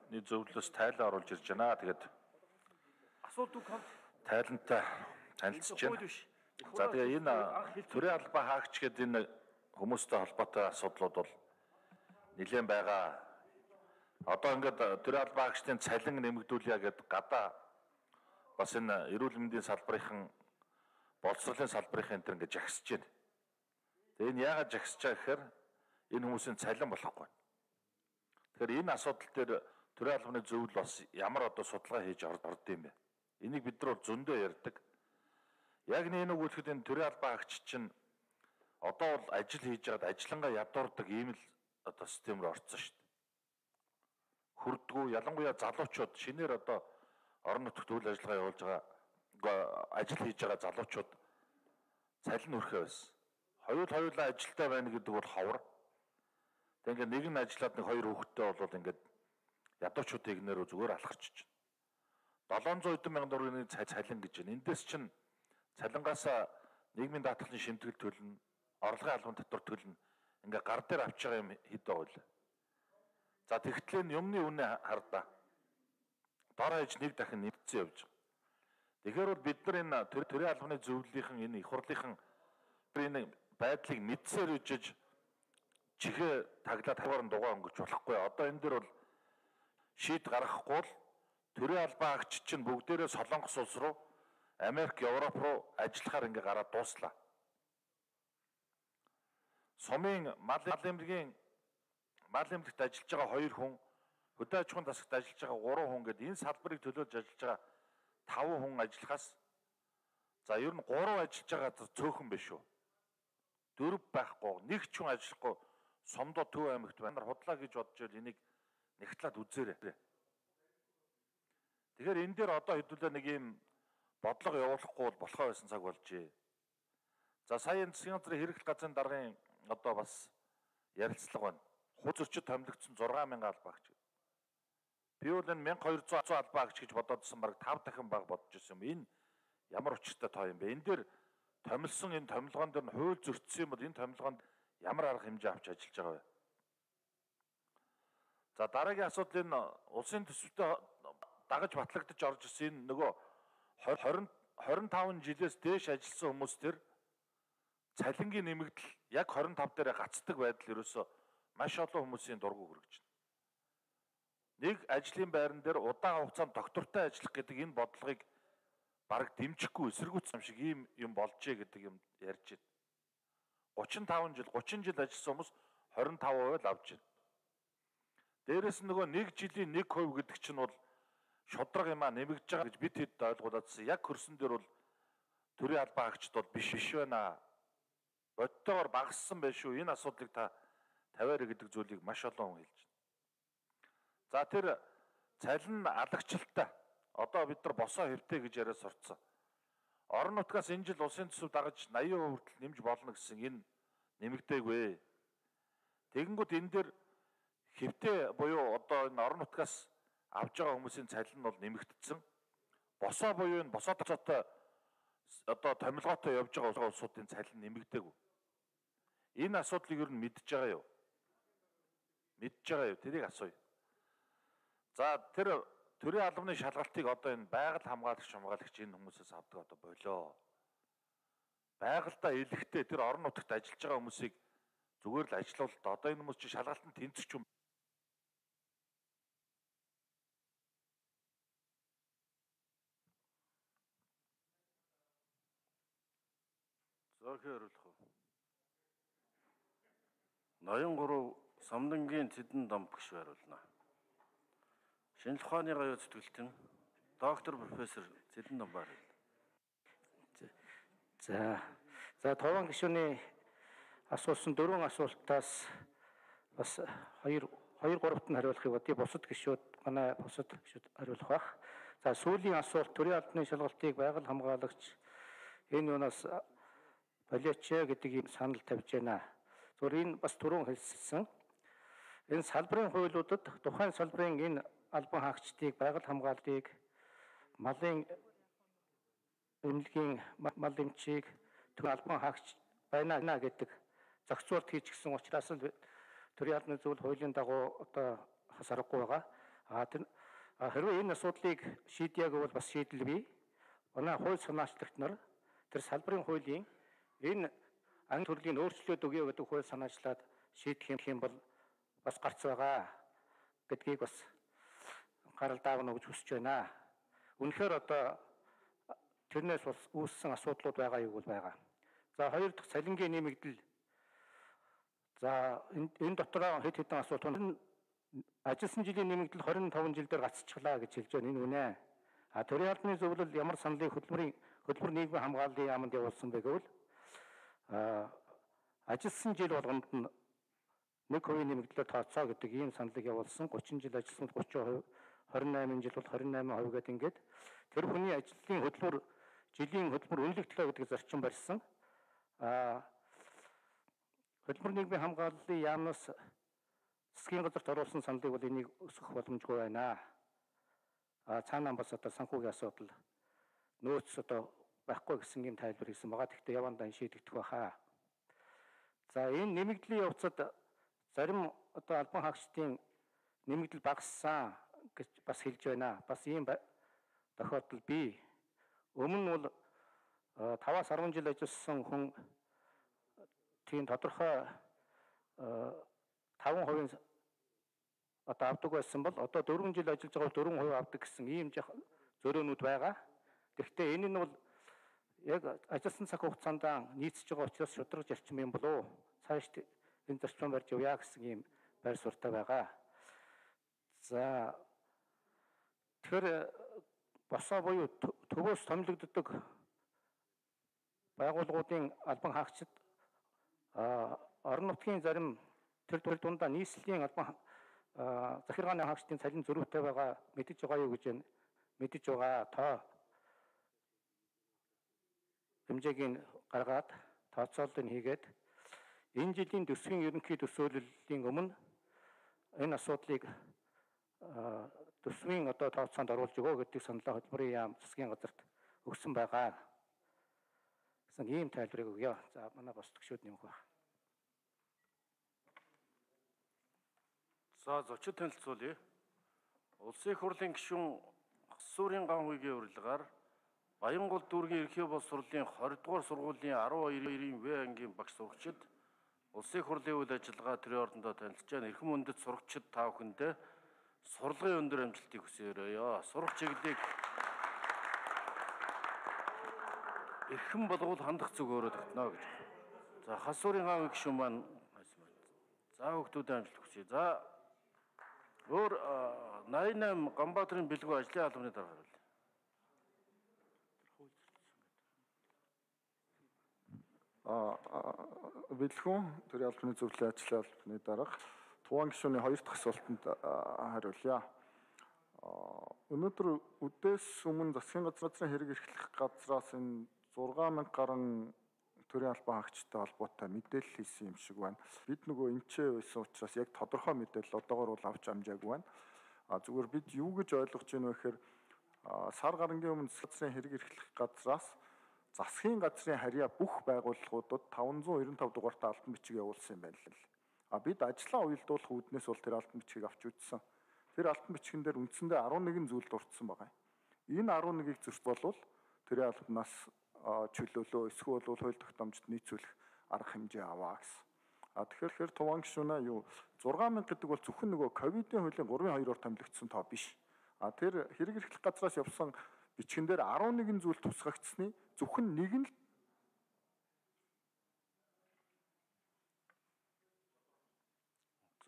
албаны зөвлөлөөс тайлан оруулж ирж байна. Тэгээд асуудаг хамт тайлантай танилцж байна. За тэгээ энэ төрийн албаа хаагч гэдэг энэ хүмүүстэй холбоотой асуудлууд бол нэлээд байгаа. Одоо ингээд төрийн албаа хаагчдын цалин нэмэгдүүлье гэдэг гадаа бас энэ эрүүл мэндийн салбарын боловсролын салбарын энэ ингээд жагсаж байна. Тэгээ энэ яагаад жагсаж байгаа гэхээр энэ хүмүүсийн цалин болохгүй. Тэгэхээр энэ асуудал дээр төрийн албаны зөвлөл бас ямар одоо судалгаа хийж орд юм бэ? Энийг бид нар зөндөө ярьдаг. Яг нэг үгүйхэд энэ төрийн албаа хаагч чинь одоо бол ажил хийж байгаад ажиллангаа ядуурдаг ийм л одоо систем рүү орцсон шүү дээ. Хүрдгүү ялангуяа залуучууд шинээр одоо орон нутагт үйл ажиллагаа явуулж байгаа ажил хийж байгаа залуучууд цалин өрхөө байсан. Хоёулаа ажилтай байна гэдэг бол ховор. Тэг ингээд нэг нь ажиллаад нэг хоёр хүүхэдтэй бол ингээд ядуучуудын игнэрөө зүгээр алхарч байна. 700 мянган төгрөгийн цалин гэж байна. Эндээс чинь цалингаасаа нийгмийн даатгалын шимтгэл төлнө, орлогын албан татвар төлнө. Ингээ гар дээр авч байгаа юм хэд байв. За тэгтлээ нь юмны үнэ хардаа. Дор хаяж нэг дахин нэмэгдсэн явж байгаа. Тэгэхээр бол бид нар энэ төрийн албаны зөвлөлийнхэн энэ их хурлынхан энэ байдлыг мэдсээр үжиж чихээ таглаад хаваар дугаа өнгөж болохгүй. Одоо энэ дэр бол шийд гаргахгүй л төрийн албаа хаагч чинь бүгдээрээ Солонгос улс руу, Америк, Европ руу ажиллахаар ингээ гараад дууслаа. Сумын мал эмнэлгийн мал эмнэлэгт ажиллаж байгаа 2 хүн, хөдөө аж ахуйн засагт ажиллаж байгаа 3 хүн гэдэг энэ салбарыг төлөөлж ажиллаж байгаа 5 хүн ажиллахаас за ер нь 3 ажиллаж байгаа цөөхөн биш үү? 4 байхгүй, нэг ч хүн ажиллахгүй Сомдоо Төв аймагт байна. Худлаа гэж бодож байл энийг нэгтлээд үзээрэй. Тэгэхээр энэ дээр одоо хэдүүлээ нэг юм бодлого явуулахгүй бол болохоо байсан цаг болжээ. За сая энэ засгийн газрын хэрэглэх газрын даргын одоо бас ярилцлага байна. Хуц зөрчид томилогдсон 6000 албаагч. Би бол энэ 1200 албаагч гэж бодоодсэн баг 5 дахин бага бодож ирсэн юм. Энэ ямар учиртай тоо юм бэ? Энэ дээр томилсон энэ томилгоон дээр нь хууль зөрчсөн юм бол энэ томилгоонд ямар арга хэмжээ авч ажиллаж байгаа вэ? За дараагийн асуудал энэ улсын төсөвтэй дагаж батлагдаж орж ирсэн энэ нөгөө 25 жилээс дээш ажилласан хүмүүс төр цалингийн нэмэгдэл яг 25 дээр гацдаг байдал ерөөсөө маш олон хүмүүсийн дургу хүргэж байна. Нэг ажлын байран дээр удаан хугацаанд доктортой ажиллах гэдэг энэ бодлогыг бараг дэмжихгүй эсэргүүцсэн юм шиг ийм юм болжээ гэдэг юм ярьж байна. 30 жил ажилласан хүмүүс 25% л авч байна. Дээрээс нь нөгөө 1 жилийн 1% гэдэг чинь бол шудраг юм а нэмэгдэж байгаа гэж бид хэд ойлгууладсан. Яг хөрсөн дээр бол төрийн албаа хаагчд бол биш байна. Бодтойгоор багассан байх шүү. Энэ асуудлыг та тавиараа гэдэг зүйлийг маш олон хүн хэлж байна. За тэр цалин алагчлалтай одоо бид нар босоо хэвтэй гэж яриа сурцсан. Орон нутгаас энэ жил улсын төсөв дагаж 80% хүртэл нэмж болно гэсэн энэ нэмэгдээгүй. Тэгэнгүүт энэ дээр хэвтэй буюу одоо энэ орон нутгаас авж байгаа хүмүүсийн цалин нь бол нэмэгдсэн. Босоо буюу энэ босоо тооцоотой одоо томилгоотой явж байгаа улсуудын цалин нэмэгдээгүй. Энэ асуудлыг ер нь мэдж байгаа юу? Мэдж байгаа юу? Тэрийг асууя. За тэр төрийн албаны шалгалтыг одоо энэ байгаль хамгаалагч энэ хүмүүсээс авдаг одоо болоо. Байгальдаа илэхтэй тэр орон нутагт ажиллаж байгаа хүмүүсийг зүгээр л ажилуулт. Одоо энэ хүмүүс чинь шалгалтанд тэнцвч юм. Зөөхөн хариулах уу? Ноён 3 Сомдонгийн Цэдэн Дом багш хариулна. Шинжлэх ухааны гавьяа зүтгэлтэн доктор профессор Цэдэн Дом баг. За товон гишүүний асуусан 4 асуултаас бас 2-3-т нь хариулахыг бодъё. Бусад гишүүд хариулах байх. За сүүлийн асуулт төрийн албаны шалгалтыг байгаль хамгаалагч энэ юунаас болооч гэдэг юм санал тавьж байна. Зүгээр энэ бас түрүүн хэлсэн. Энэ салбарын хуулиудад тухайн салбарын энэ албан хаагчдыг байгаль хамгааллыг малын эмнэлгийн мал эмчийг төрийн албан хаагч байна гэдэг зохицуулт хийчихсэн учраас л төрийн албаны зөвлөл хуулийн дагуу одоо хасарахгүй байгаа. Хэрвээ энэ асуудлыг шийдъя гэвэл бас шийдэл бий. Манай хууль санаачлагч нар тэр салбарын хуулийн энэ анги төрлийн өөрчлөлт өгье гэдэг хууль санаачлаад шийдэх юм бол бас гарц байгаа гэдгийг бас гарал даавна гэж хүсэж байна. Үнэхээр одоо тэрнээс бас үүссэн асуудлууд байгаа юу бол байгаа. За хоёр дахь цалингийн нэмэгдэл. За энэ дотроо хэд хэдэн асуудал. Ажилласан жилийн нэмэгдэл 25 жил дээр гацчихлаа гэж хэлж байна. Энэ үнэ. Төрийн албаны зөвлөл ямар саналыг хөтөлбөр нийгмийн хамгааллын яамд явуулсан бэ гэвэл ажилласан жил болгонд нь 1% нэмэгдлээр тооцоо гэдэг ийм саналыг явуулсан. 30 жил ажилласан 30%, 28 жил бол 28% гэдэг ингээд тэр хүний ажлын хөтөлбөр жилийн хөтөлбөр үнэлэгдлээ гэдэг зарчим барьсан. Хөтөлбөр нийгмийн хамгааллын яамнаас засгийн газарт оруулсан саналыг бол энийг өсгөх боломжгүй байна. Цаанаа бас одоо санхүүгийн асуудал нөөц одоо байхгүй гэсэн юм тайлбар хийсэн байгаа. Гэхдээ явандаа шийдэгдэх байхаа. За энэ нэмэгдлийн явцад зарим одоо албан хаагчдын нэмэгдэл багассан гэж бас хэлж байна. Бас ийм тохиолдол бий. Өмнө нь бол 5-аас 10 жил ажилласан хүн тийм тодорхой 5% одоо авдаг байсан бол одоо 4 жил ажиллаж байгаа 4% авдаг гэсэн ийм зөрөөнүүд байгаа. Гэхдээ энэ нь бол яг ажилласан цаг хугацаанд нийцж байгаа учраас шударга зарчим юм болов уу? Цааш энэ зарчим барьж явъя гэсэн ийм байр суурьтай байгаа. За тэгэхээр босоо буюу төвөөс томилогддог байгууллагуудын албан хаагчид орон нутгийн зарим тэр дундаа нийслэлийн албан захиргааны хаагчдын цалин зөрүүтэй байгаа мэдэж байгаа юу гэж мэдэж байгаа тоо хэмжээг гаргаад тооцоололыг хийгээд энэ жилийн төсвийн ерөнхий төсөөллийн өмнө энэ асуудлыг төсвийн одоо тооцоонд оруулж өгөө гэдэг саналаа хөтөлбөрийн яам засгийн газарт өгсөн байгаа. Гэсэн ийм тайлбарыг өгье. За манай бос төгшөөд нэмэх байна. За зочид танилцуулъя. Улсын их хурлын гишүүн Хасуурын ган хуйгийн урилгаар Баянгол дүүргийн ерхий боловс сурлын 20 дугаар сургуулийн 12-ийн В ангийн багш сурагчид Улсын их хурлын үйл ажиллагаа төрийн ордондоо танилцж байна. Эрхэм үндэт сурагчид та бүхэндээ сурлагын өндөр амжилтыг хүсээрээ. Сурах чиглэлийг эрхэм болгоул хандах зүг өөрөө тогтно гэж. За Хасуурын ган хуйгийн гишүүн маань за хүүхдүүдэд амжилт хүсье. За өөр 88 Ганбаатарын бэлгүү ажлын албаны дарга хариулъя. Бэлгүүн төрийн албаны зөвлөлийн ажлын албаны дарга Туван гишүүний 2 дахь асуултанд хариулъя. Өнөөдөр үдээс өмнө засгийн газрын хэрэг эрхлэх газраас энэ 6000 гаруй төрийн албан хаагчтай холбоотой мэдээлэл хийсэн юм шиг байна. Бид нөгөө эмчээ байсан учраас яг тодорхой мэдээлэл одоогоор бол авч амжаагүй байна. Зүгээр бид юу гэж ойлгож байна вэ гэхээр сар гарангийн өмнө засгийн хэрэг эрхлэх газраас засгийн газрын харьяа бүх байгууллагуудад 595 дугаартай алтан бичиг явуулсан юм байна л. Бид ажлаа уялдуулах үүднээс бол тэр алтан бичгийг авч үзсэн. Тэр алтан бичгэн дээр үндсэндээ 11 зүйл дурдсан байгаа. Энэ 11-ийг зөрч болвол төрийн албанаас чөлөөлөө эсвэл хууль тогтоомжид нийцүүлэх арга хэмжээ аваа гэсэн. Тэгэхээр Туван гишүүнээ юу 6000 гэдэг бол зөвхөн нөгөө ковидын хуулийн 3.2-оор томилогдсон тоо биш. Тэр хэрэг эрхлэх газраас явсан бичгэн дээр 11 зүйл тусгагдсны зөвхөн нэг нь л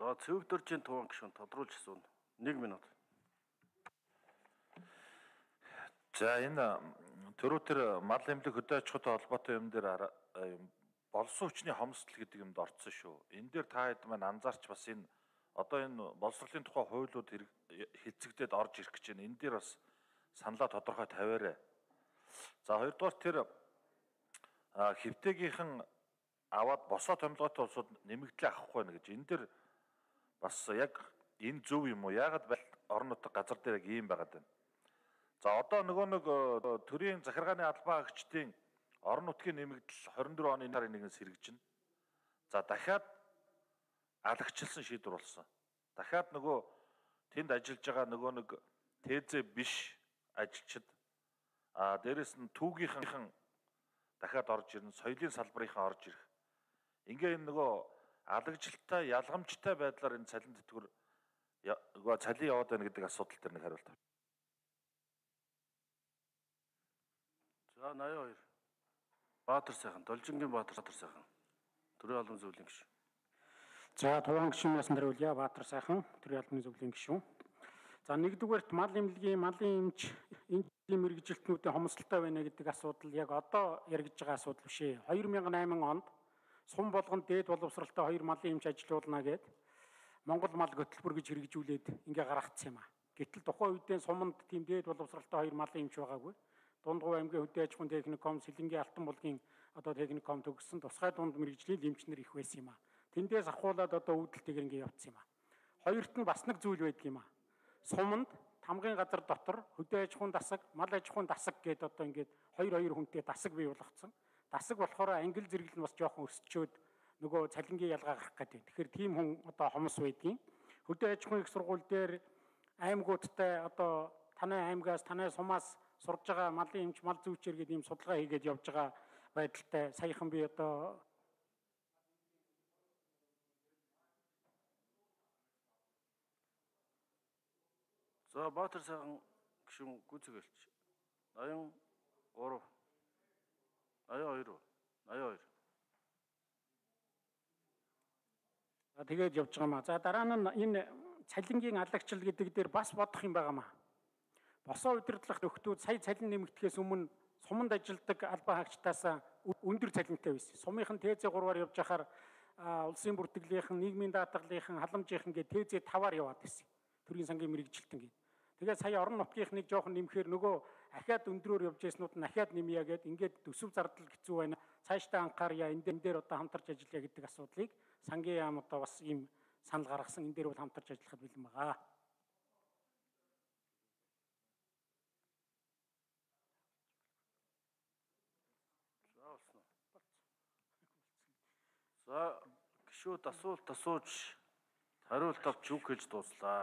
За цэвэгдөржийн Туван гишүүн тодруулж асууна. 1 минут. За энэ төрөөр мал эмнэлэг хөдөө аж ахуйтай холбоотой юм дээр болсон хүчний хомсдол гэдэг юмд орцсон шүү. Энэ дээр та хэд маань анзаарч бас энэ одоо энэ боловсролын тухай хуулиуд хэлцэгдээд орж ирэх гэж байна. Энэ дээр бас саналаа тодорхой тавиарай. За хоёрдугаар тэр хэвтээгийнхэн аваад босоо томилгоотой улсууд нэмэгдлээ авахгүй байна гэж. Энэ дээр бас яг энэ зөв юм уу? Яагаад орон нутаг газар дээр яг ийм байгаад байна? За одоо нөгөө нэг төрийн захиргааны албан хаагчдын орон нутгийн нэмэгдэл 24 оны сарын 1-ээс хэрэгжинэ. За дахиад алагчлсан шийдвэр болсон. Дахиад нөгөө тэнд ажиллаж байгаа нөгөө нэг ТЗ биш ажилчид дээрэс нь түүгийнхэн дахиад орж ирнэ, соёлын салбарынхан орж ирэх. Ингээ энэ нөгөө алагжилттай, ялгамжтай байдлаар энэ цалин тэтгэвэр цалин яваад байна гэдэг асуудал дээр нэг хариулт авч. За 82. Баатар сайхан, Должингийн Баатар сайхан. Төрийн албан зөвлөлийн гишүүн. За Туван гишүүнээс хариулъя. Баатар сайхан, төрийн албан зөвлөлийн гишүүн. За нэгдүгээрт мал эмнэлгийн, малын эмч, энэ мэргэжилтнүүдийн хомсдолтой байна гэдэг асуудал яг одоо яригдж байгаа асуудал биш ээ. 2008 онд сум болгонд дээд боловсралтай 2 малын эмч ажилуулна гэд Монгол мал хөтөлбөр гэж хэрэгжүүлээд ингээ гаргацсан юм а. Гэтэл тухайн үедээ суманд тийм дээд боловсралтай 2 малын эмч байгаагүй. Дундгов аймгийн хөдөө аж ахуйн техникум, Сэлэнгийн Алтан булгийн одоо техникум төгссөн тусгай дунд мэргэжлийн эмчнэр их байсан юм а. Тэндээс ахуулаад одоо үүдэлтэйгээр ингээ явцсан юм а. Хоёрт нь бас нэг зүйл байдаг юм а. Суманд тамгын газар дотор хөдөө аж ахуйн дасаг, мал аж ахуйн дасаг гэдээ одоо ингээд 2 хүнтэй дасаг бий болгоцсон. Дасаг болохоор ангил зэрэгэл нь бас жоохон өсчөөд нөгөө цалингийн ялгаа гарах гэдэг. Тэгэхээр тийм хүн одоо хомс байдгийн. Хөдөө аж ахуйн их сургууль дээр аймагуудтай одоо танай аймгаас, танай сумаас сурж байгаа малын эмч, мал зүйчээр гэдэг ийм судалгаа хийгээд явж байгаа байдалтай саяхан би одоо За Баатар сайхан гишүүн гүйцэтгэлч 83 82 82. За тэгээд явж байгаа маа. За дараа нь энэ цалингийн алагчил гэдэг дээр бас бодох юм байгаа маа. Босоо удирдлах нөхдүүд сая цалин нэмэгдэхээс өмнө суманд ажилладаг албан хаагчдаас өндөр цалинтай байсан. Сумынхан ТЗ3-аар явж байхаар улсын бүртгэлийнхэн, нийгмийн даатгалынхан, халамжийнхан гэдэг ТЗ5-аар яваад байсан. Төрийн сангийн мэргэжилтэн гэдэг. Тэгээд сая орон нутгийнхныг жоохон нэмэхээр нөгөө ахиад өндрөөр явж байснууд нь ахиад нэмье гэд ингээд төсөв зардал хэцүү байна. Цаашдаа анхаарья, энэ дээр одоо хамтарч ажиллая гэдэг асуудлыг сангийн яам одоо бас ийм санал гаргасан. Энэ дээр бол хамтарч ажиллахад бэлэн байгаа. За гишүүд асуулт асууж хариулт авч үг хэлж дууслаа.